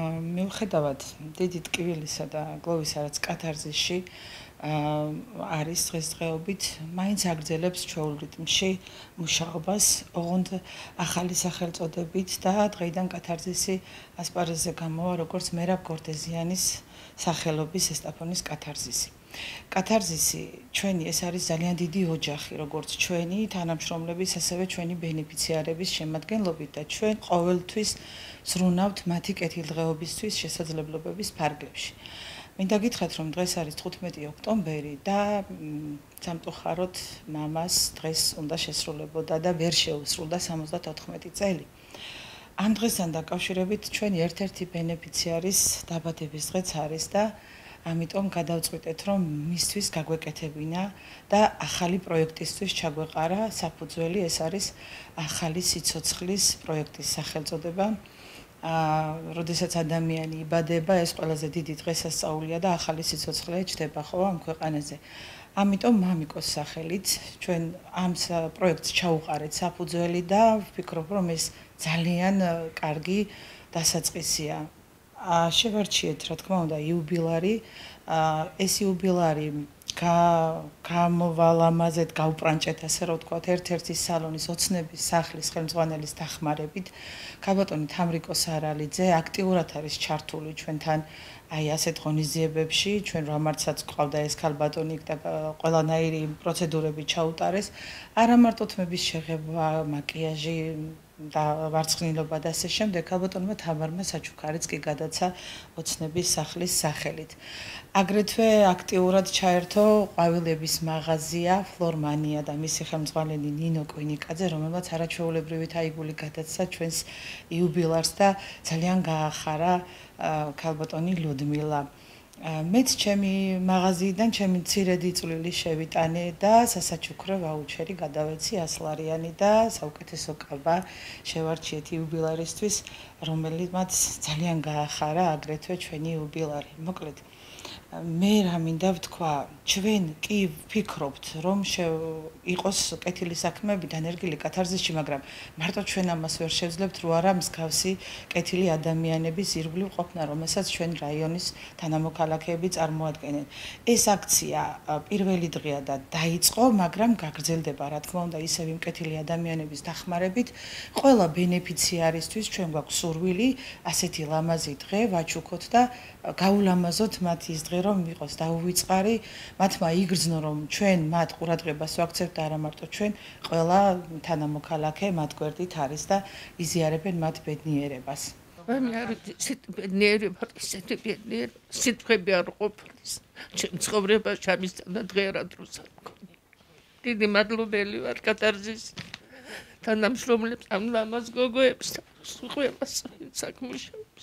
მიუხედავად დიდი ტკივილისა და გლოვისა, რაც კათარზისში არის დღესდღეობით, მაინც აგრძელებს ჩვეულ რიტმში მუშაობას, ოღონდ ახალი სახელწოდებით და დღეიდან კათარზისი ასპარეზზე გამოვა როგორც მერაბ გორდეზიანის სახელობის ესტაფონის კათარზისი. კათარზისი ჩვენი ეს არის ძალიან დიდი ოჯახი, როგორც ჩვენი თანამშრომლების, ასევე ჩვენი ბენეფიციარების შემადგენლობით და ჩვენ ყოველთვის ზრუნავთ მათი კეთილდღეობისთვის შესაძლებლობების ფარგლებში. მინდა გითხრათ, რომ დღეს არის 15 ოქტომბერი და სამწუხაროდ მამას დღეს უნდა შესრულებოდა და ვერ შეუსრულდა 74 წელი. ამ დღესთან დაკავშირებით ჩვენი ერთ-ერთი ბენეფიციარის დაბადების დღეც არის და ამიტომ გადავწყვიტეთ, რომ მისთვის გაგვეკეთებინა და ახალი პროექტისთვის ჩაგვეყარა საფუძველი, ეს არის ახალი სიცოცხლის პროექტის სახელწოდება. როდესაც ადამიანი იბადება, ეს ყველაზე დიდი დღესასწაულია და ახალი სიცოცხლე ჩდება ხო ამ ქვეყანაზე. ამიტომ მამიკოს სახელით ჩვენ ამ პროექტს ჩაუყარეთ საფუძველი და ვფიქრობ, რომ ეს ძალიან კარგი დასაწყისია. შევარჩიეთ, რა თქმა უნდა, იუბილარი, ეს იუბილარი გამოვალამაზეთ, გავპრანჭეთ, ასე რომ ვთქვათ, ერთ-ერთი სალონის ოცნების სახლის ხელმძღვანელის დახმარებით. ქალბატონი თამრიკო სარალიძე აქტიურად არის ჩართული ჩვენთან აი ასეთ ღონისძიებებში, ჩვენ რამარცაც ყავდა ეს ქალბატონი და ყველანაირი პროცედურები ჩაუტარეს. არა მარტო თმების შეღება, მაკიაჟი და ვარცხნილობა და ასე შემდეგ, ქალბატონმა თამარმა საჩუქარიც კი გადაცა ოცნების სახლის სახელით. აგრეთვე აქტიურად ჩაერთო ყვავილების მაღაზია ფლორმანია და მისი ხელმძღვანელი ნინო კვინიკაძე, რომელმაც არაჩვეულებრივი თაიგული გადაცა ჩვენს იუბილარს და ძალიან გაახარა ქალბატონი ლუდმილა. მეც ჩემი მაღაზიიდან ჩემი მცირედი წვლილი შევიტანე და სასაჩუქრო ვაუჩერი გადავეცი 100 ლარიანი და საუკეთესო კაბა შევარჩიეთ იუბილარისთვის, რომელმაც ძალიან გაახარა აგრეთვე ჩვენი იუბილარი. მოკლედ მე რა მინდა ვთქვა, ჩვენ კი ვფიქრობთ, რომ იყოს კეთილი საქმეები დანერგილი კათარზისში, მაგრამ მარტო ჩვენ ამას ვერ შევძლებთ, რო არა მსგავსი კეთილი ადამიანების ირგვლივ ყოფნა, რომელსაც ჩვენ რაიონის თანამოქალაქეები წარმოადგენენ. ეს აქცია პირველი დღეა და დაიწყო, მაგრამ გაგრძელდება, რა თქმა უნდა, ისევ იმ კეთილი ადამიანების დახმარებით. ყველა ბენეფიციარისთვის ჩვენ გვაქვს სურვილი, ასეთი ლამაზი დღე ვაჩუქოთ და გაულამაზოთ მათ ის დღე, რომ იყოს დაუვიწყარი, მათმა იგრძნო, რომ ჩვენ მათ ყურადღებას ვაქცევთ და არა მარტო ჩვენ, ყველა თანამოქალაქე მათ გვერდით არის და იზიარებენ მათ ბედნიერებას. მე არ ბედნიერი ვარ, ისეთი ბედნიერი, სიტყვები არ ყოფილის. ჩემ ცხოვრებაში ამისთანა დღე რა დროს არ მქონია. დიდი მადლობელი ვარ კათარზის თანამშრომლებს, ამ ლამაზ გოგოებს, ყველას საქმუშაობს.